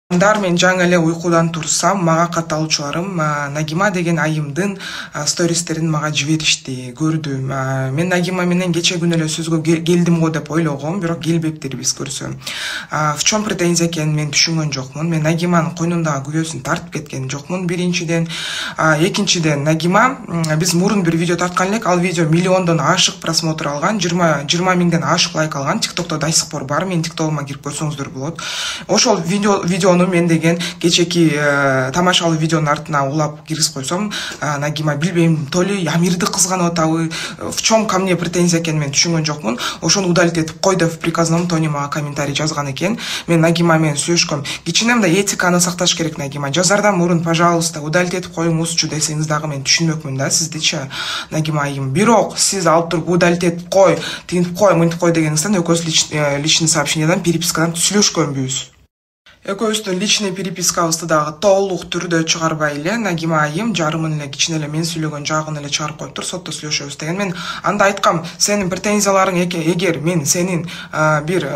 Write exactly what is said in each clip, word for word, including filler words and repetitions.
Дар мен жаңы эле уйкудан турсам, мага катталуучуларым Нагима деген айымдын стористерин мага жиберишти, көрдүм. Мен Нагима менен кече күнү эле сөзгө келдим го деп ойлогом, бирок келбептирбиз көрсө. В чем претензия экенин мен түшүнгөн жокмун. Мен Нагиманын койнундагы күбөсүн тартып кеткен жокмун, биринчиден. Экинчиден, Нагима биз мурун бир видео тарткан элек, ал видео миллиондон ашык просмотр алган, жыйырма миңден ашык лайк алган. TikTok'то до сих пор бар, менин TikTok'ума кирип көрсөңүздөр болот. Ошол видео видео мен деген кечеки тамашалуу видеонун артына улап киргиз койсом, Нагима билбейм, то ли Амирди кызганып атабы, в чем ко мне претензия экенин мен түшүнгөн жокмун. Ошону удалить этип кой деп в приказном тоне мага комментарий жазган экен. Мен Нагима менен сүйлөшкөм. Кичинем да этиканы сакташ керек, Нагима. Жазардан мурун, пожалуйста, удалить этип коюңузчу десеңиз дагы мен түшүнмөкмүн да сиздичи, Нагима айым. Бирок сиз алып туруп удалить этип кой, тигинтип кой, мынтип кой дегениңизден экөөбүз личный сообщениядан, перепискадан сүйлөшкөнбүз. Экөөбүздүн личный перепискабызды дагы толук түрдө чыгарбай эле Нагима айым жарымын эле кичине эле мен сүйлөгөн жагын эле чыгарып коюптур, сотто сүйлөшөбүз деген. Мен анда айткам, сенин претензияларың эгер мен сенин бир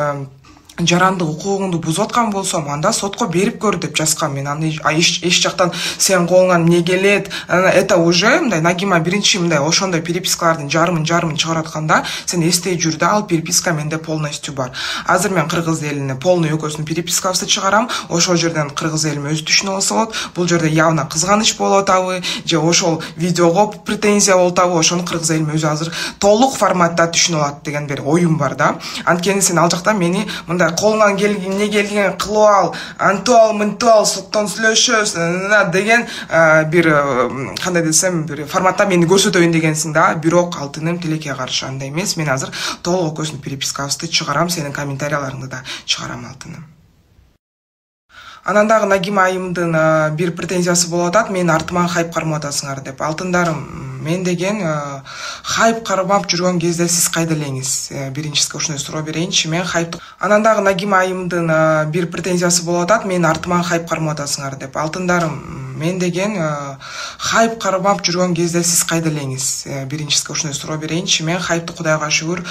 жарандык укугуңду бузуп аткан болсом, анда сотко берип көр деп жазгам. Мен аны эч жактан сен колуңан эмне келет, это уже мындай Нагима биринчи мындай ошондой перепискалардын жарымын жарымын чыгарып атканда сен эстей жүр да, ал переписка менде полностью бар. Азыр мен кыргыз элине полный экөөбүздүн перепискабызды чыгарам. Ошол жерден кыргыз элим өзү түшүнүп алса болот. Бул жерде явно кызганыч болуп атабы, же ошол видеого претензия болуп атабы, ошону кыргыз элим өзү азыр толук форматта түшүнүп алат деген бир оюм бар да. Анткени сен ал жакта мени мындай колуңан келген эмне келген кылып ал, антып ал, мынтып ал, соттон сүйлөшөбүз деген бир кандай десем, бир форматта мени көрсөтөйүн дегенсиң да. Бирок алтыным тилекке каршы андай эмес. Мен азыр толук экөөбүздүн перепискабызды чыгарам, сенин комментарияларыңды да чыгарам, алтыным. Анан дагы Нагима айымдын бир претензиясы болуп атат, мен артыма хайп кармап атасыңар деп. Алтындарым, мен деген хайп кармап жүргөн кезде сиз кайда элеңиз? Биринчисине ушуну суроо берейинчи. Мен хайп. Анан дагы Нагима айымдын бир претензиясы болуп атат, мен артыма хайп кармап атасыңар деп. Алтындарым, мен деген хайп кармап жүргөн кезде сиз кайда элеңиз? Биринчисине ушуну суроо берейинчи. Мен хайпты Кудайга шүгүр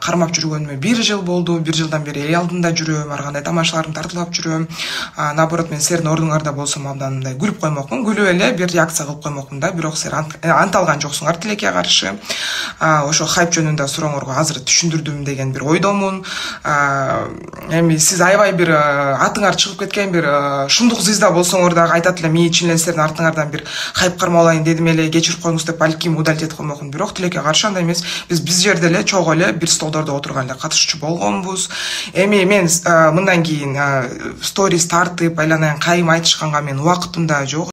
кармап жүргөнүмө бир жыл болду. бир жылдан бери эл алдында жүрөм, ар кандай тамашаларым тартылап жүрөм. Наоборот, мен силердин ордуңарда болсом абдан мындай күлүп коймокмун, күлүп эле бир реакция кылып коймокмун да. Бирок силер анталган жоксуңар тилекке каршы. Ошо хайп жөнүндө сурооңорго азыр түшүндүрдүм деген бир ойдомун. Эми сиз аябай бир атыңар чыгып кеткен бир шундук звезда болсоңор дагы айтат эле, мен чын эле силердин артыңардан бир хайп кармалайын дедим эле, кечирип коюңуз деп балким удалить этип коймокмун. Бирок тилекке каршы андай эмес. Биз биз жерде эле чогуу эле бир столдордо отурган эле катышуучу болгонбуз. Эми мен мындан кийин сторис тартып айланайын кайым айтышканга мен убакытым да жок.